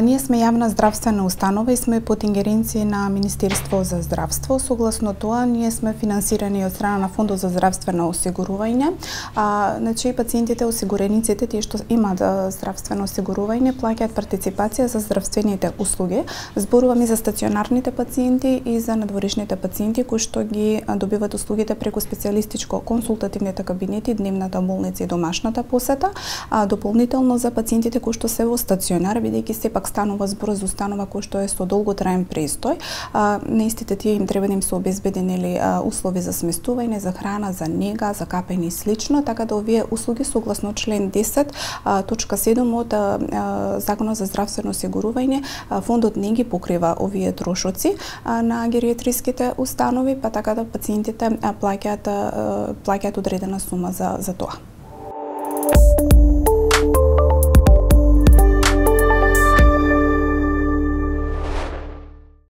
Ние сме јавна здравствена установа и сме под ингеренција на Министерство за здравство. Согласно тоа, ние сме финансирани од страна на Фондот за здравствено осигурување. Значи, пациентите, осигурениците, тие што имаат здравствено осигурување, плаќаат партиципација за здравствените услуги. Зборуваме за стационарните пациенти и за надворешните пациенти кои што ги добиваат услугите преку специјалистичко консултативните кабинети, дневната болница и домашната посета, дополнително за пациентите кои што се во стационар, бидејќи сепак станува збор за установа кој што е со долготраен престој. На истите тие им треба да им се обезбедени услови за сместување, за храна, за нега, за капење и слично, така да овие услуги согласно член 10 точка 7 од Законот за здравствено осигурување, фондот не ги покрива овие трошоци на гериатриските установи, па така да пациентите плаќаат одредена сума за тоа.